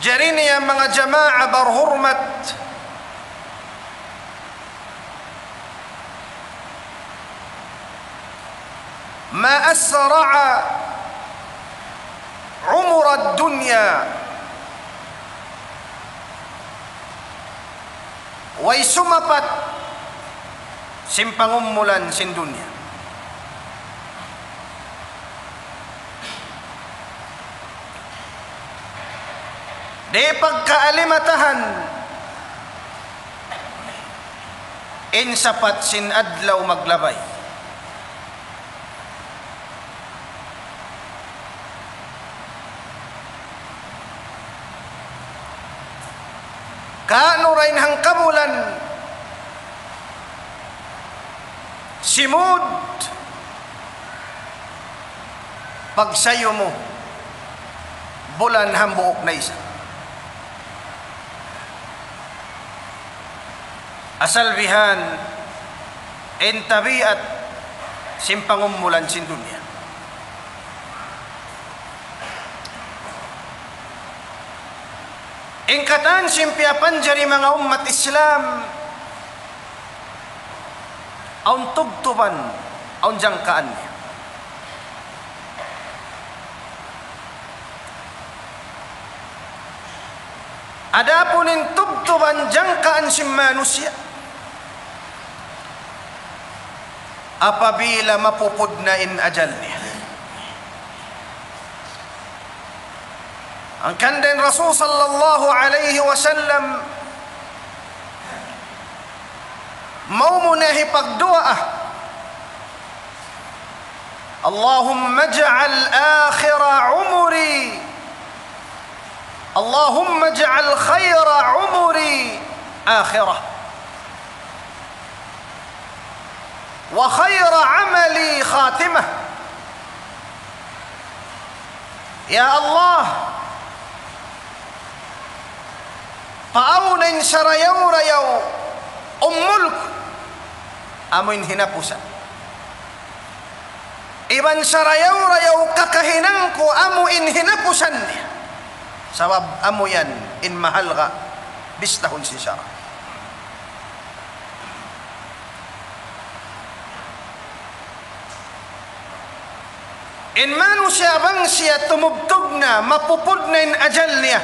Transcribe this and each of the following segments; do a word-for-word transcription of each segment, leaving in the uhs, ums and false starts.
Jari niya manga jamaa barhurmat, ما أسرع عمر الدنيا. Way sumapat sin pangumulan sin dunya. Di' pagkaalimatahan in sapat sin adlaw maglabay. Kaunu ra in hangkabulan, simud, pagsayu mu, bulan hambuuk na isab. Asal bihan in tabiat sin pangumulan sin dunya. In katan sin piyapanjari manga ummat Islam, awn tubtuban, awn jangkaan niya. Adapun in tubtuban jangkaan sin manusiya', apabila mapupud na in ajal niya. Hangkan da in Rasul sallallahu alayhi wasallam, maunu na hipagduwaa, اللهم اجعل آخر عمري، اللهم اجعل خير عمري آخرة، وخير عملي خاتمة. Ya Allah, paawn in sarayaw-rayaw umul ku, amu in hinapusan. Iban sarayaw-rayaw kakahinang ku, amu in hinapusan niya. Sabab amu yan in mahalga' bistahun sin sara'. In manusiya' bang siya tumubtub na, mapupud na in ajal niya,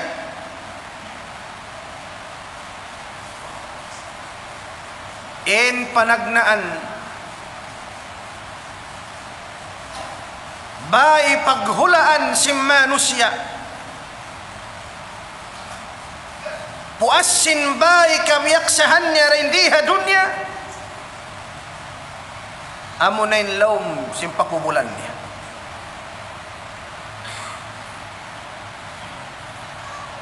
in panagnaan, bāy paghulaan sin manusiya', puas sin bāy kabiyaksahan niya dayn di ha dunya, amuna in lawm sin pakubulan niya.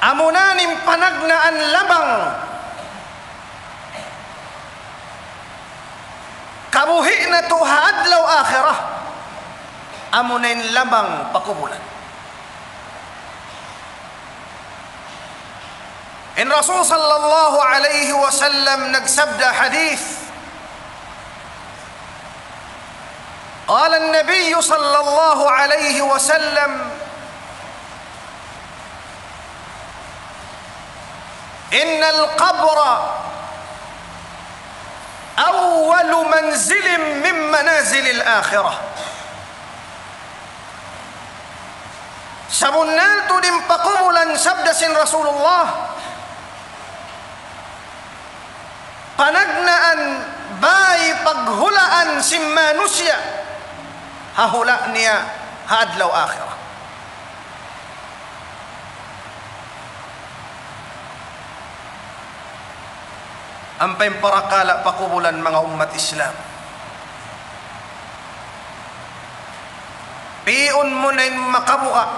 Amuna in panagnaan labang kabuhi' natu' ha adlaw akhirat, amuna in labang pakubulan. In Rasul sallallahu alayhi wasallam nagsabda hadith, قال النبي صلى الله عليه وسلم: إن القبر أول منزل من منازل الآخرة. Sabunnal tuud in pakubulan, sabda sin Rasulullah, panagnaan bāy paghulaan sin manusiya' ha hula' niya ha adlaw akhirat. Ampa in parakala' pakubulan, manga ummat Islam, pi'un mu na in makabuga'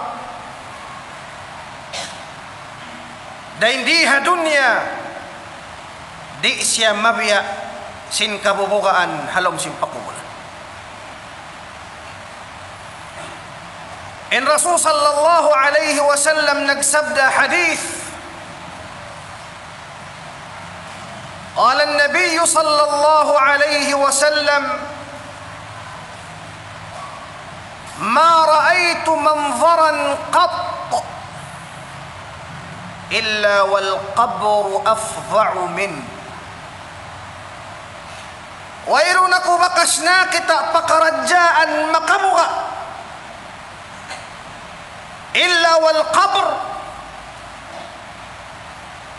dayn di ha dunya, di' siya mabiya' sin kabubugaan ha lawm sin pakubulan. In Rasul sallallahu alayhi wasallam nagsabda hadith, قال النبي صلى الله عليه وسلم: ما رأيت منظرا قط إلا والقبر أفظع منه. Wayruun aku bakas nakita' pakaradjaan makabuga'. إلا والقبر,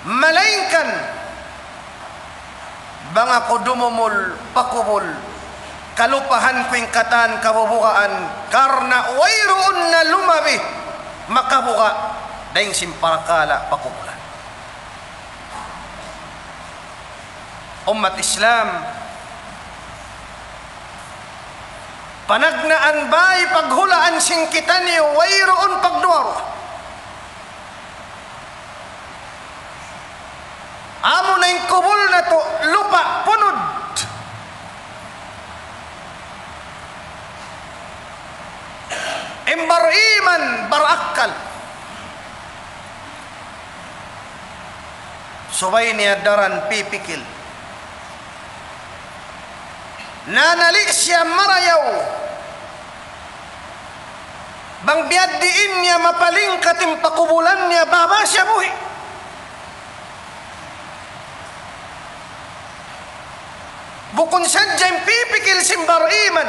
malaingkan bang aku dumumul pa kubul, kalupahan ku in katan kabubugaan, karna' wayruun na lumabi makabuga' dayn sin parakala' pakubulan. Ummat Islam, panagnaan bay paghulaan sin kitaniyu, wayruun pagduwa-ruwa. Amuna in kubul natu' lupa' punud. In bar-iman, barakkal, subay niya daran pipikil. Nanali' siya marayaw. Bang biya' diin niya mapalingkat in pakubulan niya, baba siya buhi'. Bukun sadja in pipikil sin bar-iman.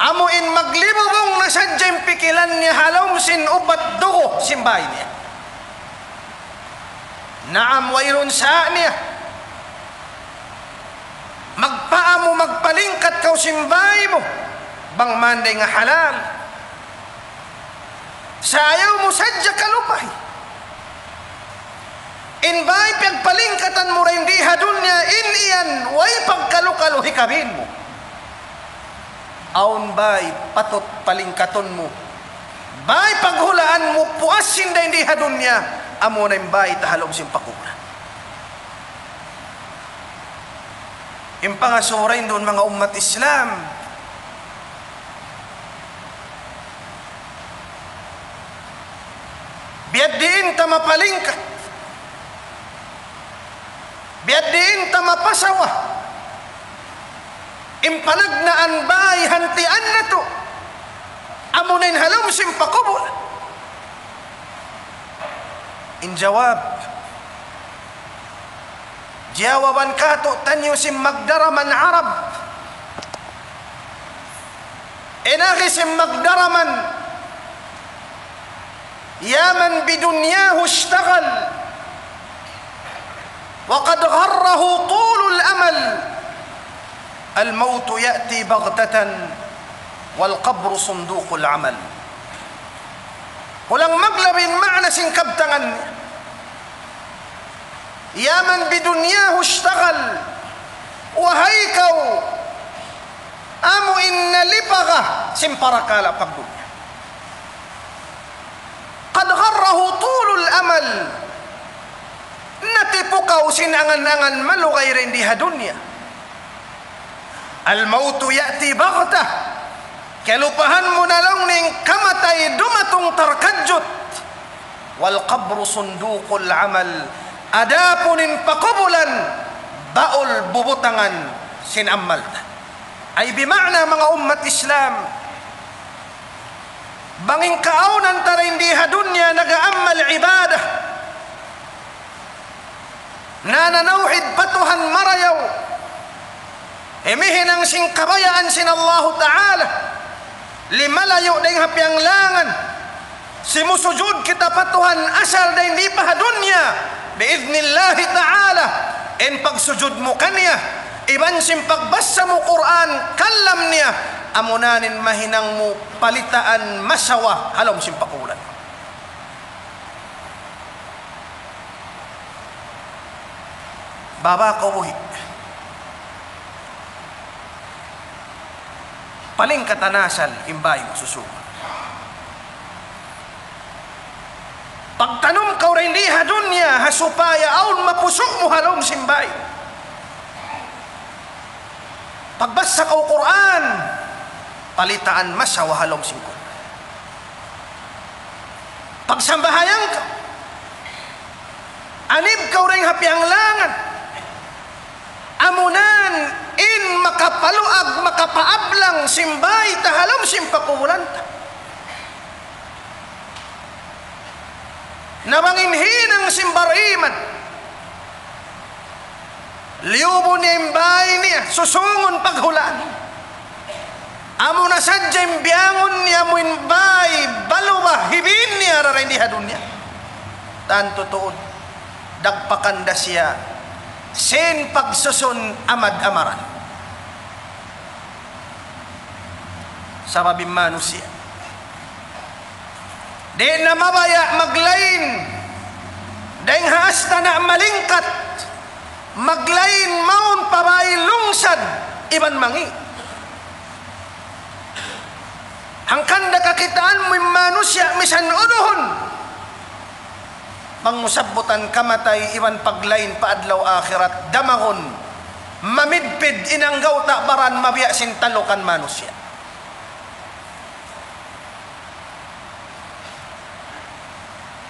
Amu in maglibubung na sadja in pikilan niya ha lawm sin upat dugu' sin bay niya. Naam, wayruun sa niya. Magpaamu, magpalingkat kaw sin bay mu, bang man da in halal. Sa' ayaw mu sadja kalupahi. In bay piyagpalingkatan mu dayn di ha dunya, in yan, way pagkalu-kalu hikabin mu. Awn bay patut palingkatun mu. Bay paghulaan mu puas sin dayn di ha dunya, amuna in bay ta ha lawm sin pakubulan. In pangasubu dayn duun manga ummat Islam, biya' diin ta mapalingkat, biya' diin ta mapasawa, in panagnaan bay hantian natu', amuna in ha lawm sin pakubul. In jawab, jawaban katu'taniyu sin magdaraman Arab. In agi sin magdaraman, يا من بدنياه اشتغل وقد غره طول الأمل، الموت يأتي بغتة والقبر صندوق العمل. Kulang maglabin maana sin kabtangan niya. يا من بدنياه اشتغل. Wahai kaw, amu in nalipaga sin parakala' pagdunya. قد غره طول الأمل. Natipu kaw sin angan-angan malugay dayn di ha dunya. الموت يأتي بغتة. Kalupahan mu na laung niya in kamatay dumatung tarkadjut. والقبر صندوق العمل. Adapun in pakubulan, baul bubutangan sin amal ta. Ay bima'na manga ummat Islam, bang in kaawnan ta dayn di ha dunya nag-aamal ibadah, nananawhid pa Tuhan marayaw, himihinang sin kabayaan sin Allahu Ta'ala, limalayu' dayn ha piyanglangan, simusujud kita pa Tuhan asal dayn di pa ha dunya, bi'idhnillahi ta'ala, in pagsujud mu kaniya, iban sin pagbassa mu Qur'an, kalam niya, amuna in mahinang mu palitaan masawa ha lawm sin pakubulan. Baba kaw buhi'. Palingkatan asal in bay mu susūngun. Pagtanum kaw dayn di ha dunya, ha supaya awn mapusuk mu ha lawm sin bay. Pagbassa kaw Qur'an, palitaan masawa ha lawm sin Qur'an. Pagsambahayang kaw, anib kaw dayn ha piyanglangan, amuna in makapaluag, makapaablang sin bay ta ha lawm sin pakubulan ta. Na bang in hinang sin bariman, liyubun niya in bāy niya, susungun paghulaan. Amu na sadja in biyangun niya, amu in bāy baluba hibin niya dara ini ha dunya. Tantu tuud, dagpakan da siya sin pagsusun amad-amaran. Sabab in manusiya' di' na mabaya' maglain dayn ha astana' malingkat, maglain mawn pa bāy lungsad iban mangi'. Hangkan da kakitaan mu in manusiya' misan uduhun, bang mu sabbutan kamatay iban paglain pa adlaw akhirat, damagun, mamidpid in anggawta' baran mabiya' sin talukan manusiya'.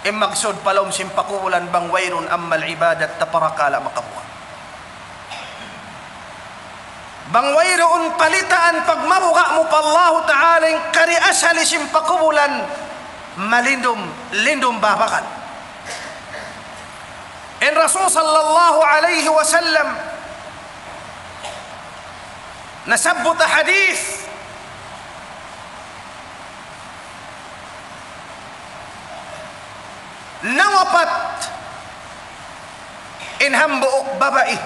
In maksud pa lawm sin pakubulan bang wayruun amal ibadat ta parakala' makabuga'. Bang wayruun palitaan pagmabuga' mu pa Allahu Ta'ala, in kari asali sin pakubulan, malindum, lindum babakan. In Rasul sallallahu alayhi wasallam nasabbut ha hadith, nawapat in hambuuk babai.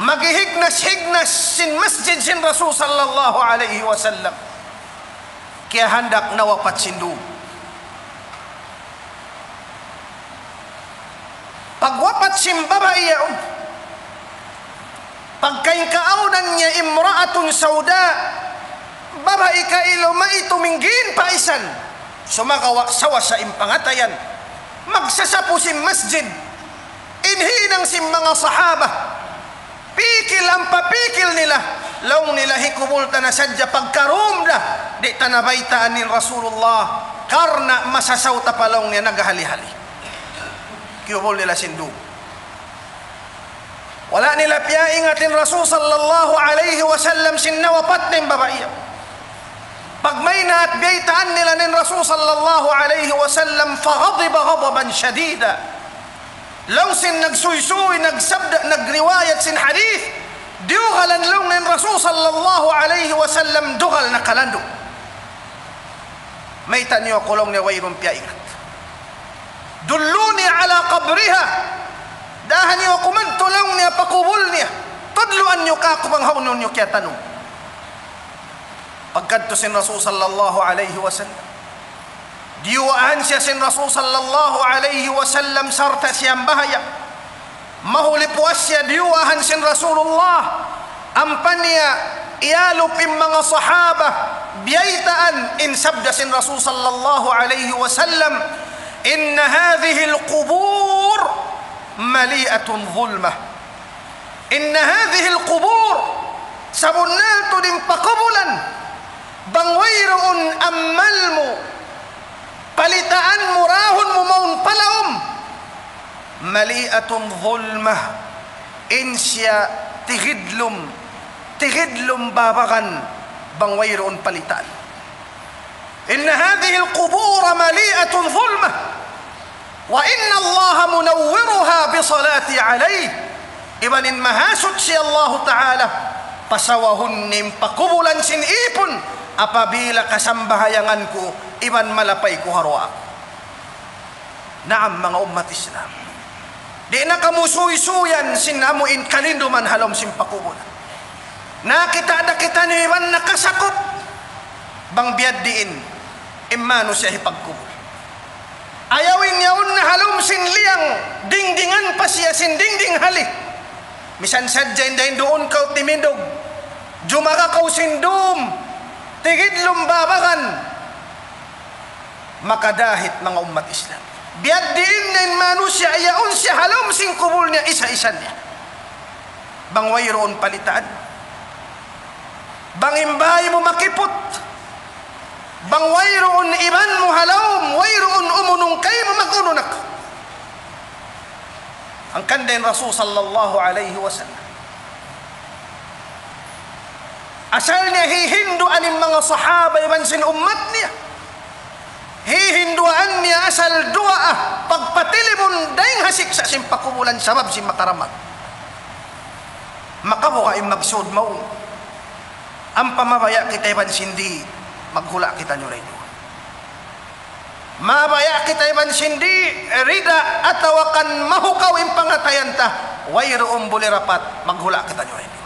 Maghihignas-hignas sin masjid sin Rasul sallallahu alayhi wasallam. Kiyahandak nawapat sin dum. Pagwapat sin babai yaun, pagkaingkaunan niya imra'atun sauda, babai kailu maitu minggin pa isan, sumagawa' sawasa in pangatayan, magsasapu sin masjid. In hinang sin manga sahaba, pikil ampa pikil nila, laung nila hikubul ta na sadja pagka dum da, di' ta na baytaan in Rasulullah, karna' masasaw ta pa laung niya naghali-hali. Kiyubul nila sin dum. Wala' nila piyaingat in Rasul sallallahu alayhi wasallam sin nawapat niya in babai. Pagmaynaat biyaytaan nila in Rasul sallallahu alayhi wasallam, فغضب غضبا شديدا. Laung sin nagsuysuy, nagsabda, nagriwayat sin hadith, diyugalan laung in Rasul sallallahu alayhi wasallam dugal na kalandu'. Mayta' niyu aku laung niya wayruun piyaingat. دلوني على قبرها. Daha niyu aku madtu laung niya pa kubul niya. Tudluan niyu kāku' bang hawnu niyu kiyatanum. Pagkadtu sin Rasul sallallahu alayhi wasallam, diyuwaahan siya sin Rasul sallallahu alayhi wasallam sarta' siya nambahayang. Mahuli puas siya diyuwaahan sin Rasulullah. Ampa niya iyalup in manga sahaba, biyaytaan in sabda sin Rasul sallallahu alayhi wasallam, إن هذه القبور مليئة ظلمة. إن هذه القبور, sabunnal tuud in pakubulan, bang wayruun amal mu, palitaan mu, rahun mu mawn pa lawm, مليئة ظلمة, in siya tigidlum, tigidlum babakan, bang wayruun palitaan. إن هذه القبور مليئة ظلمة، وإن الله منورها بصلاتي عليه. Iban in Mahasuchi Allahu Ta'ala, pasawahun niya in pakubulan sin ipun, apabila kasambahayangan ku, iban malapay ku ha duwaa. Naam, manga ummat Islam. Di' na kamu suysuyan sin amu in kalinduman ha lawm sin pakubulan. Nakakita' da kitaniyu iban nakasakup bang biya' diin in manusiya' hipagkubul. Ayaw in yaun na ha lawm sin liyang, dingdingan pa siya sin dingding hali. Misan sadja in dayn duun kaw timindug, jumaga kaw sin dum, tigidlum babakan, makadahit manga ummat Islam. Biya' diin na in manusiya' yaun siya ha lawm sin kubul niya isa-isa niya. Bang wayruun palitaan. Bang in bāy mu makiput. Bang wayruun iban mu ha lawm, wayruun umunung kaymu, mag-unun aku. Hangkan da in Rasul sallallahu alayhi wasallam, asal niya hihinduan in manga sahaba iban sin ummat niya. Hihinduan niya asal duwaa, pagpatilimun dayn ha siksa' sin pakubulan sabab sin makaramag. Makabuga' in maksud mawn. Ampa mabaya' kita iban sin di', maghula' kitaniyu dayn duun. Mabaya' kita iban sin di', rida atawa kan mahukaw in pangatayan ta, wayruun buli rapat, maghula' kitaniyu dayn duun.